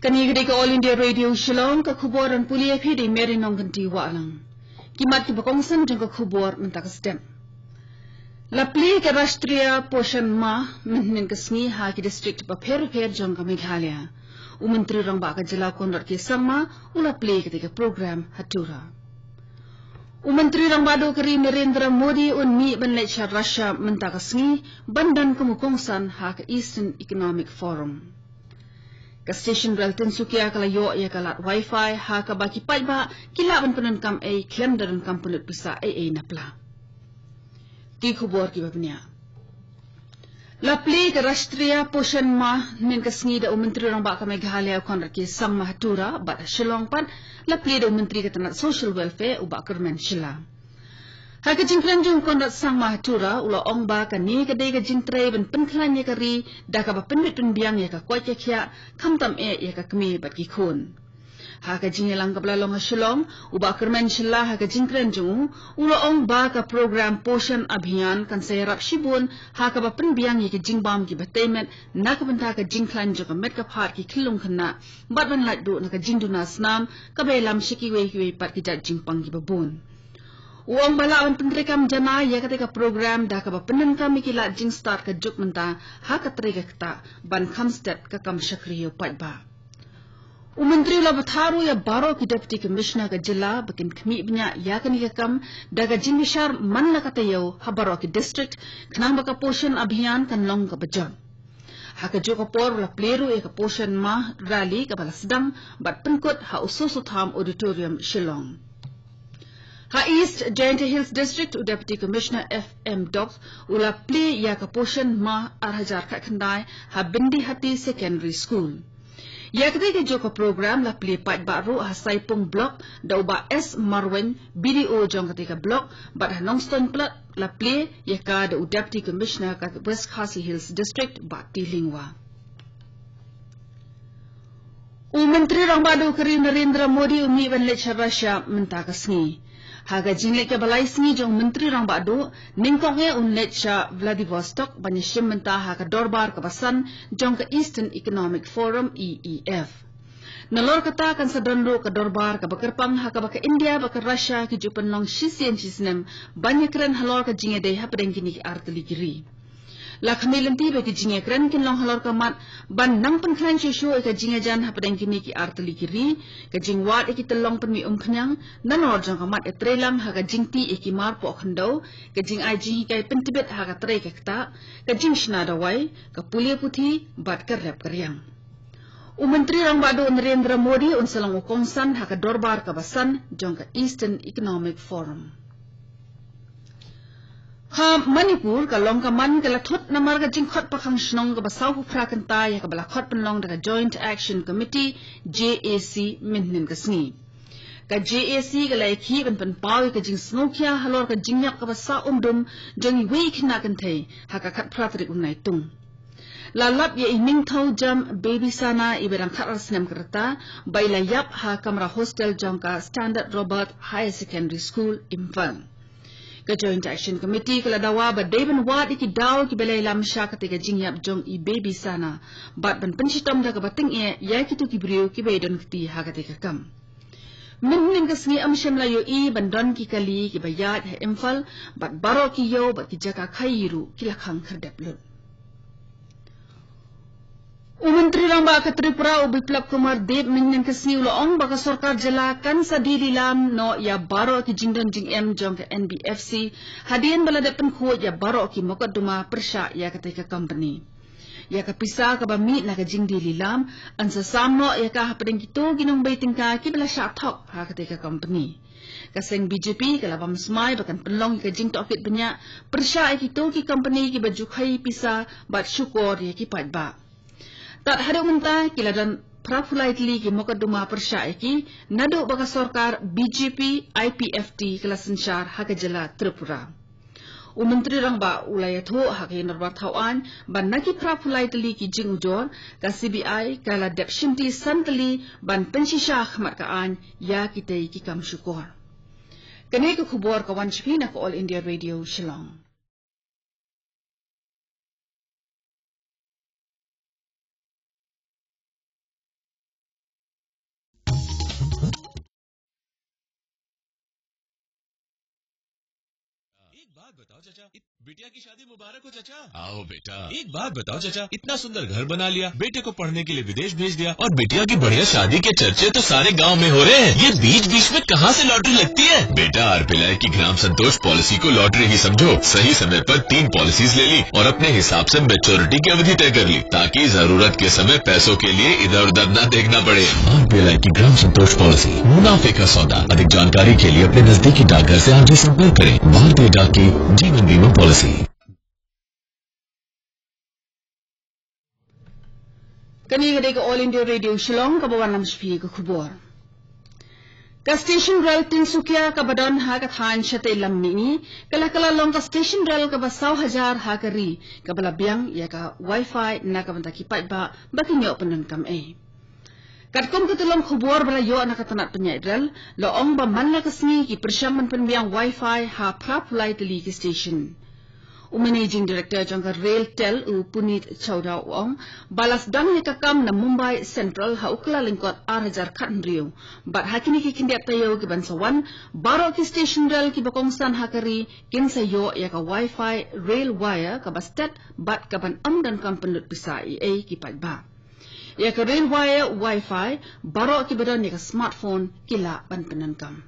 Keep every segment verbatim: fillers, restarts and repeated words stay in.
Kane ka dei ka All India Radio Shillong, ka khubor ban pule ïa phi da i Mary Nongkynti Wahlang. Ki mat kiba kongsan jong ka khubor mynta ka step. La plie ka Rashtriya Poshan Maah mynhynnin ka sngi ha ki district bapher bapher jong ka Meghalaya. U Myntri Rangbah ka jylla Conrad K Sangma u la plie ïa katei ka program ha Tura. U Myntri Rangbah Duh ka ri Narendra Modi un mih ban leit sha Russia mynta ka sngi ban don kum u kongsan ha ka Eastern Economic Forum. Ka station rel Tinsukia ka la ïoh ïa ka lad wifi ha kaba ki paidbah ki lah ban pyndonkam ei khlem da donkam pynlut pisa ei ei na pla. Ki khubor kiba bniah. La plie ka Rashtriya Poshan Maah mynhynnin ka sngi da u Myntri Rangbah ka Meghalaya u Conrad K Sangma ha Tura, bad ha Shillong pat la plie da u Myntri ka tnat Social Welfare u Bah Kyrmen Shylla. Ha ka jingkren jong u Conrad Sangma ha Tura u la ong ba kane ka dei ka jingtrei ban pynkhlaiñ ïa ka ri da kaba pynbit pynbiang ïa ka koit ka khiah, khamtam eh ïa ka kmie bad ki khun. Ha ka jingïalang kaba la long ha Shillong, u Bah Kyrmen Shylla ha ka jingkren jong u u la ong ba ka program Poshan Abhiyan kan sa ïarap shibun ha kaba pynbiang ïa ki jingbam kiba tei met na ka bynta ka jingkhlaiñ jong ka met ka phad ki khyllung khynnah bad ban lait duh na ka jingduna snam kaba ïalam sha kiwei kiwei pat ki jait jingpang kiba bun. U ong ba lah ban pyntreikam janai ïa katei ka program da kaba pyndonkam ïa ki lad jingstad ka juk mynta ha ka trei ka ktah ban kham stet ka kam shakri ïa u paidbah. U Myntri u la bthah ruh ïa baroh ki Deputy Commissioner ka jylla ba kin khmih bniah ïa kane ka kam da ka jingbishar man la ka taïew ha baroh ki district khnang ba ka Poshan Abhiyan kan long kaba jot. Ha kajuh ka por u la plie ruh ïa ka Poshan Maah rally kaba la sdang bad pynkut ha u Soso Tham Auditorium Shillong. Ha East Jaintia Hills District u Deputy Commissioner F M Dobbs u la plie ïa ka Poshan Maah ar hajar khatkhyndai ha Bindihati Secondary School. Ïa katei kajuh ka program la plie paidbah ruh ha Saipung Block da u Bah S Marwein, B D O jong katei ka block, bad ha Nongstoiñ Plat la plie ïa ka da u Deputy Commissioner ka West Khasi Hills District Bah T Lyngwa. U Myntri Rangbah Duh ka ri Narendra Modi u mih ban leit sha Russia mynta ka sngi. Ha ka jingleit kaba lai sngi jong u Myntri Rangbah Duh, nyngkong eh un leit sha Vladivostok ban ïashim bynta ha ka dorbar kaba san jong ka Eastern Economic Forum, E E F. Nalor kata kan sa don ruh ka dorbar kaba kyrpang ha kaba ka India bad ka Russia ki ju pynlong shisien shisnem ban ïakren halor ka jingïadei hapdeng kine ki artylli ki ri. La khmih lynti ba ki jingïakren kin long halor ka mat ban nang pynkhlaiñ shuh shuh ïa ka jingïajan hapdeng kine ki artylli ki ri, ka jingwad ïa ki tyllong pynmih umphniang, nalor jong ka mat ïatreilang ha ka jingtih ïa ki mar poh khyndew, ka jingai jinghikai pyntbit ha ka trei ka ktah, ka jingshna dawai, ka pule puthi bad ka rep ka riang. U Myntri Rangbah Duh Narendra Modi un sa long u kongsan ha ka dorbar kaba san jong ka Eastern Economic Forum. Ha Manipur, ka long ka man ka la thut namar ka jingkhot pakhang shnong kaba sawphew phra kynta ïa kaba la khot pynlong da ka Joint Action Committee, J A C, mynhynnin ka sngi. Ka J A C ka la ïakhih ban pynpaw ïa ka jingsngewkhia halor ka jingïap kaba sah umdum jong iwei i khynnah kynthei ha ka khatphra tarik u Naitung. La lap ïa i Ningthaw Jam Bebisana iba dang khatar snem ka rta ba i la ïap ha kamra hostel jong ka Standard Robert Higher Secondary School, Imphal. Ka Joint Action Committee ka la dawa ba dei ban wad ïa ki daw kiba la ïalam sha katei ka jingïap jong i Bebisana bad ban pynshitom da kaba tyngeh ïa kito ki briew kiba ïadon kti ha katei ka kam. Mynhynnin ka sngi ym shym la ïohi ban don ki kali kiba ïaid ha Imphal bad baroh ki ïew bad ki jaka khaii ruh ki la khang khyrdep lut. U Myntri Rangbah ka Tripura u Biplab Kumar Deb mynhynnin ka sngi u la ong ba ka sorkar jylla kan sa die lilam noh ïa baroh ki jingdon jingem jong ka N B F C hadien ba la dep pynkhuid ïa baroh ki mokotduma pyrshah ïa katei ka company. Ïa ka pisa kaba mih na ka jingdie lilam yn sa sam noh ïa ka hapdeng kito ki nongbei tyngka kiba la shah thok ha katei ka company. Ka seng B J P ka la bam smai ba kan pynlong ïa ka jingtohkit bniah pyrshah ïa kito ki company kiba ju khaii pisa bad shukor ïa ki paidbah. Tad haduh mynta ki la don phra phew lai tylli ki mokotduma pyrshah ïa ki naduh ba ka sorkar B J P I P F T ka la synshar ha ka jylla Tripura. U Myntri Rangbah u la ïathuh ha ka ïing dorbar thaw aiñ ba na ki phra phew lai tylli ki jingujor, ka C B I ka la dep shimti san tylli ban pynshisha ha khmat ka aiñ ïa kitei ki kam shukor. Kane ka khubor ka wan sha phi na ka All India Radio Shillong. बात बताओ चाचा, इत-, बिटिया की शादी मुबारक हो चाचा। आओ बेटा। एक बात बताओ चाचा, इतना सुंदर घर बना लिया, बेटे को पढ़ने के लिए विदेश भेज दिया और बिटिया की बढ़िया शादी के चर्चे तो सारे गांव में हो रहे हैं। ये बीच बीच में कहाँ से लॉटरी लगती है? बेटा, आरपीएलआई की ग्राम संतोष पॉलिसी को लॉटरी ही समझो। सही समय पर तीन पॉलिसीज ले ली और अपने हिसाब से मैच्योरिटी की अवधि तय कर ली, ताकि जरूरत के समय पैसों के लिए इधर उधर ना देखना पड़े। आरपीएलआई की ग्राम संतोष पॉलिसी, मुनाफे का सौदा। अधिक जानकारी के लिए अपने नजदीकी डाकघर से आज ही संपर्क करें। भारतीय डाक की जीवन बीमा पॉलिसी। Kane ka dei ka All India Radio Shillong, kaba wanlam sha phi ka khubor. Ka station rel Tinsukia kaba don ha ka thaiñ Shatei Lam Mihngi, ka la kylla long ka station rel kaba saw hajar ha ka ri, kaba la biang ïa ka wifi na ka bynta ki paidbah ba kin ïoh pyndonkam ei. Katkum ka tyllong khubor ba la ïoh na ka tnat pynïaid rel, la ong ba man la ka sngi ki pyrshang ban pynbiang wifi ha phra phew lai tylli ki station. U Managing Director jong ka RailTel, u Puneet Chawda, u ong ba la sdang ïa ka kam na Mumbai Central ha u Kyllalyngkot ar hajar khathynriew. Bad ha kine ki khyndiat taïew kiban sa wan, baroh ki station rel kiba kongsan ha ka ri kin sa ïoh ïa ka wifi RailWire kaba stet bad kaban ym donkam pynlut pisa ei ei ki paidbah. Ïa ka RailWire wifi, baroh kiba don ïa ka smartphone ki lah ban pyndonkam.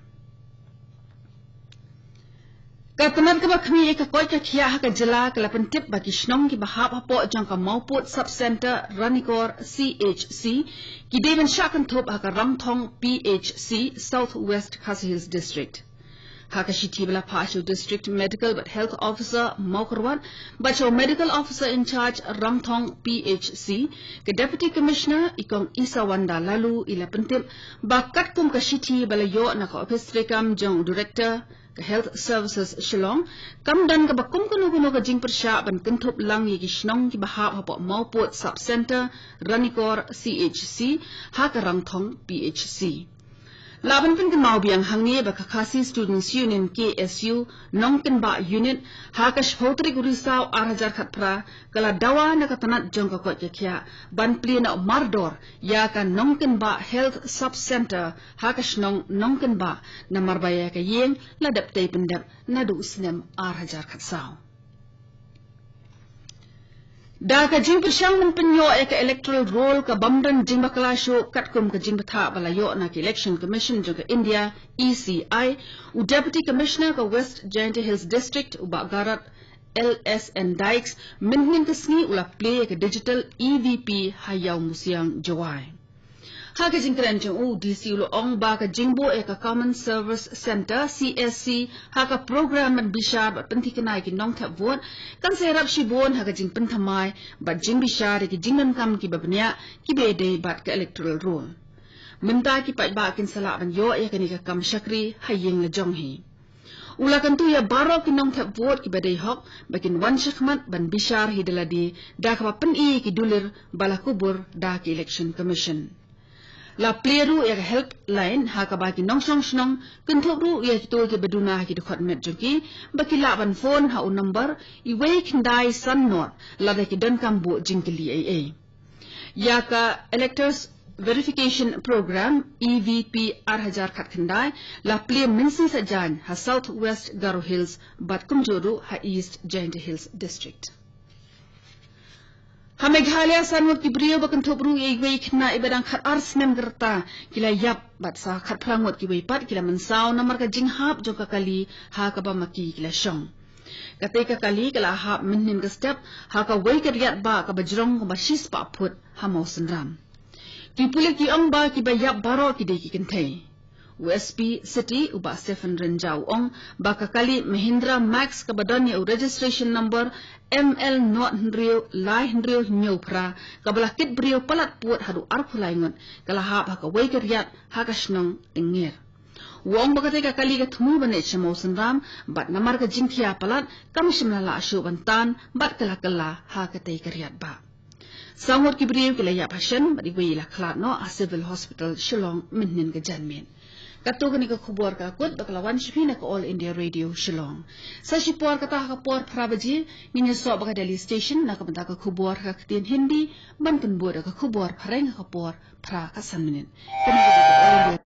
Ka tnat kaba khmih ïa ka koit ka khiah ha ka jylla ka la pyntip ba ki shnong kiba hap hapoh jong ka Mawpud Sub-Centre Ranikor C H C ki dei ban shah kynthup ha ka Rangthong P H C, South West Khasi Hills District. Ha ka shithi ba la phah sha u District Medical bad Health Officer Mawkyrwat bad sha u Medical Officer in Charge Rangthong P H C, ka Deputy Commissioner i Kong Isawanda Laloo i la pyntip ba katkum ka shithi ba la ïoh na ka ophis treikam jong u Director ka Health Services Shillong, kam don kaba kum kano kano ka jingpyrshah ban kynthup lang ïa ki shnong kiba hap hapoh Mawpud Sub-Centre Ranikor C H C ha ka Rangthong P H C. Lah ban pynkynmaw biang hangne ba ka Khasi Students Union, K S U, Nongkynbah Unit, ha ka shiphew tarik u Risaw ar hajar khatphra, ka la dawa na ka tnat jong ka koit ka khiah ban plie noh mardor ïa ka Nongkynbah Health Sub-Centre ha ka shnong Nongkynbah, namar ba ïa ka ïing la dep tei pyndep naduh u snem ar hajar khatsaw. Da ka jingpyrshang ban pynïoh ïa ka electoral roll ka bym don jingbakla shuh katkum ka jingbthah ba la ïoh na ka Election Commission jong ka India, E C I, u Deputy Commissioner ka West Jaintia Hills District, u Bah Garod L S N Dykes, mynhynnin ka sngi u la plie ïa ka digital E V P ha Ïawmusiang, Jowai. Ha ka jingkren jong u, D C u la ong ba ka jingbuh ïa ka Common Service Centre, C S C, ha ka program ban bishar bad pynthikna ïa ki nongthep vote kan sa ïarap shibun ha ka jingpynthymmai bad jingbishar ïa ki jingdonkam kiba bniah kiba ïadei bad ka electoral roll. Mynta ki paidbah kin sa lah ban ïoh ïa kane ka kam shakri ha ïing la jong hi. U la kyntu ïa baroh ki nongthep vote kiba dei hok ba kin wan shakhmat ban bishar hi da lade da kaba pyni ki dulir ba la kubur da ki Election Commission. La plie ruh ïa ka helpline ha kaba ki nongshong shnong kynthup ruh ïa kito kiba duna ha ki dkhot met jong ki ba ki lah ban phone ha u number wei khyndai san nod lada ki donkam buh jingkylli ei ei. Ïa ka Electors Verification Program, E V P ar hajar khatkhyndai, la plie mynsngi saitjaiñ ha South West Garo Hills bad kumjuh ruh ha East Jaintia Hills District. Ha Meghalaya, san ngut ki briew ba kynthup ruh ïa iwei i khynnah iba dang khatar snem ka rta ki la ïap bad sa khatphra ngut kiwei pat ki la mynsaw namar ka jinghap jong ka kali ha kaba ma ki ki la shong. Katei ka kali ka la hap mynhynnin ka step ha kawei ka riat bah kaba jrong kumba shispah phut ha Mawsynram. Ki pulit ki ong ba kiba ïap baroh ki dei ki kynthei. U S P City, u Bah Stephen Rynjah, u ong ba ka kali Mahindra Max kaba don ïa u registration number M L nod hynriew lai hynriew hynñiew phra, kaba la kit briew palat pud haduh arphew lai ngut, ka la hap ha kawei ka riat ha ka shnong Lyngngir. U ong ba katei ka kali ka thmu ban leit sha Mawsynram bad namar ka jingkhia palat kam shym la lah shuh ban tan bad ka la kylla ha katei ka riat bah. Saw ngut ki briew ki la ïap ha shen bad iwei i la khlad noh ha Civil Hospital Shillong mynhynnin ka janmiet. Katto kane ka khubor ka kut ba ka la wan sha phi na ka All India Radio Shillong. Sa shipor kata ha ka por phra baje ngin ïasoh bad ka Delhi Station na ka bynta ka khubor ha ka ktien Hindi, ban pynbud da ka khubor phareng ha ka por phra khatsan minit. Kane ka dei ka All India